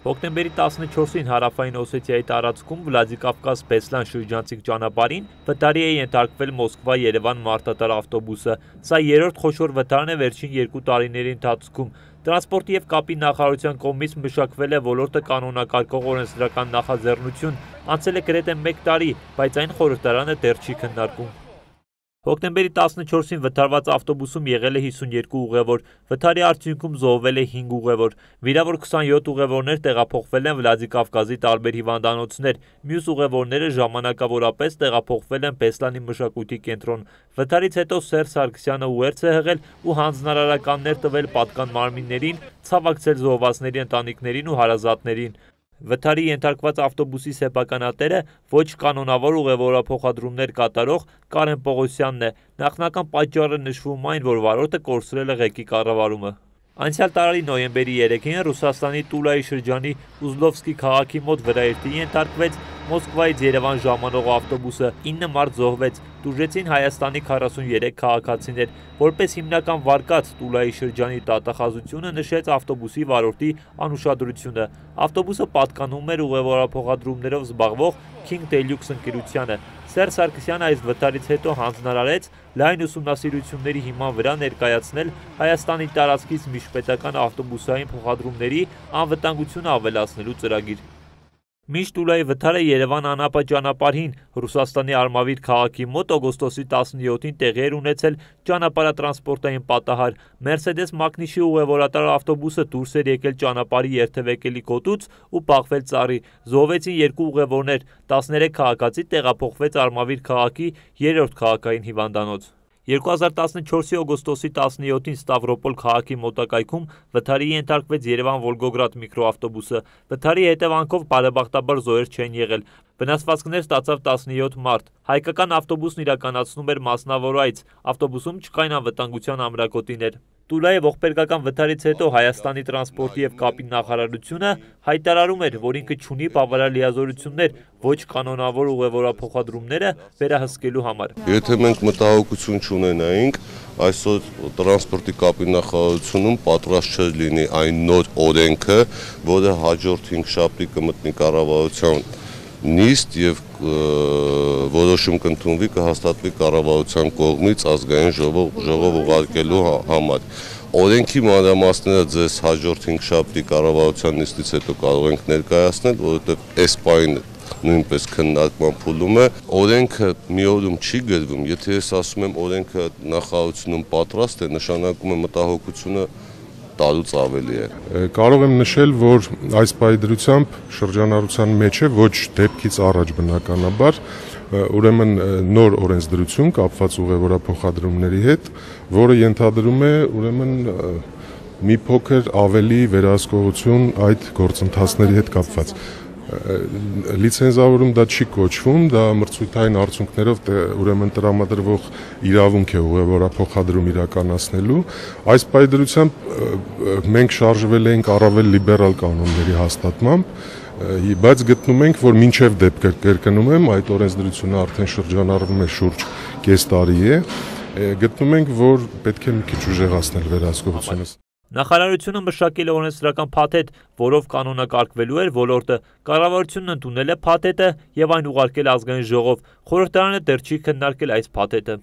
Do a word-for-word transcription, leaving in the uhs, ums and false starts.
Հոկտեմբերի տասնչորսին Հարավային Օսեթիայի տարածքում Վլադիկավկազ-Բեսլան շրջանցիկ ճանապարհին վթարի է ենթարկվել Մոսկվա-Երևան մարդատար ավտոբուսը։ Սա երրորդ խոշոր վթարն է վերջին երկու տարիների ընթացքում։ Տրանսպորտի և կապի նախարարության կողմից մշակվել է ոլորտը կանոնակարգող օրենսդրական նախաձեռնություն, անցել է գրեթե մեկ տարի, բայց այն խորհրդարանը դեռ չի քննարկում։ Հոկտեմբերի տասնչորսին վթարված ավտոբուսում եղել է հիսունյոթ ուղևոր, վթարի արդյունքում զոհվել է հինգ ուղևոր, վիրավոր քսանյոթ ուղևորներ տեղափոխվել են Վլադիկավկազի տարբեր հիվանդանոցներ, մյուս ուղևորները ժամանակավորապես տեղափոխվել են Բեսլանի մշակույթի կենտրոն։ Վթարից հետո Սերժ Սարգսյանը ուղերձ է հղել ու հանձնարարականներ տվել պատկան մարմիններին, ցավակցել զոհվածների ընտանիքներին ու հարազատներին։ Վթարի ենթարկված ավտոբուսի սեփականատերը ոչ կանոնավոր ուղևորափոխադրումներ կատարող Կարեն Պողոսյանն է։ Նախնական պատճառը նշվում այն, որ վարորդը կորցրել է ղեկի կառավարումը։ Անցյալ տարի նոյեմբերի երեքին Ռուսաստանի Տուլայի շրջանի Ուզլովսկի քաղաքի մոտ վրայերթի ենթարկվեց Մոսկվայից Երևան ժամանող ավտոբուսը, ինը մարդ զոհվեց, տուժեցին Հայաստանի քառասուներեք քաղաքացիներ։ Որպես հիմնական վարկած Տուլայի շրջանի դատախազությունը նշեց ավտոբուսի վարորդի անուշադրությունը։ Ավտոբուսը պատկանում էր ուղևորափոխադրումներով զբաղվող King Deluxe ընկերությանը։ Սերժ Սարգսյանը այս վթարից հետո հանձնարարեց լայն ուսումնասիրությունների հիման վրա ներկայացնել Հայաստանի տարածքից միջպետական ավտոբուսային փոխադրումների անվտանգությունը ավելացնելու ծրագիր։ Մինչ Տուլայի վթարը Երևան-Անապա ճանապարհին Ռուսաստանի Արմավիր քաղաքի մոտ օգոստոսի տասնյոթին տեղի էր ունեցել ճանապարհատրանսպորտային պատահար։ Mercedes Magnich-ի ուղևորատար ավտոբուսը դուրս էր եկել ճանապարհի երթևեկելի գոտուց ու բախվել ծառի։ Զոհվեցին երկու ուղևորներ, տասներեք քաղաքացի տեղափոխվեց Արմավիր քաղաքի երրորդ քաղաքային հիվանդանոց։ երկու հազար տասնչորսի օգոստոսի տասնյոթին Ստավրոպոլ քաղաքի մոտակայքում վթարի ենթարկվեց Երևան-Վոլգոգրադ միկրոավտոբուսը։ Վթարի հետևանքով բարեբախտաբար զոհեր չեն եղել։ Վնասվածքներ ստացավ տասնյոթ մարդ։ Հայկական ավտոբուսն իրականացնում էր մասնավոր այց, ավտոբուսում չկային անվտանգության ամրակոտիներ։ Տուլայի ողբերգական վթարից հետո Հայաստանի տրանսպորտի և կապի նախարարությունը հայտարարում էր, որ ինքը չունի բավարար լիազորություններ ոչ կանոնավոր ուղևորափոխադրումները վերահսկելու համար։ Եթե մենք մտահոգություն չունենայինք, այսօր տրանսպորտի կապի նախարարությունում պատրաստ չէր լինի այն նոր օրենքը, որը հաջորդ հինգշաբթի կմտնի կառավարության նիստ եւ որոշում կընդունվի, կհաստատվի կառավարության կողմից ազգային ժողով ուղարկելու համար։ Օրենքի մանրամասները ձեզ հաջորդ հինգշաբթի կառավարության նիստից հետո կարող ենք ներկայացնել, որովհետեւ այս պահին նույնպես քննարկման փուլում է։ Օրենքը մի օրում չի գրվում, եթե ես ասում եմ օրենքը նախարարությունում պատրաստ է, նշանակում է մտահոգությունը տարուց ավելի է։ Կարող եմ նշել, որ այս պայդրությամբ շրջանառության մեջ է ոչ դեպքից առաջ բնականաբար, ուրեմն նոր օրենսդրություն կապված ուղևորափոխադրումների հետ, որը ենթադրում է ուրեմն մի փոքր ավելի վերահսկողություն այդ գործընթացների հետ կապված։ Լիցենզավորում դա չի կոչվում, դա մրցույթային արդյունքներով ուրեմն տրամադրվող իրավունք է ուղևորափոխադրում իրականացնելու։ Այս պայդրությամբ մենք շարժվել ենք առավել լիբերալ կանոնների հաստատմամբ, բայց գտնում ենք, որ մինչև դեպք կրկնում եմ, այդ օրենսդրությունը արդեն շրջանառվում է շուրջ կես տարի է, գտնում ենք, որ պետք է մի քիչ ուժեղացնել վերահսկողությունը։ Նախարարությունը մշակել է օրենսդրական փաթեթ, որով կանոնակարգվելու էր ոլորտը։ Կառավարությունն ընդունել է փաթեթը եւ այն ուղարկել ազգային ժողով։ Խորհրդարանը դեռ չի քննարկել այս փաթեթը։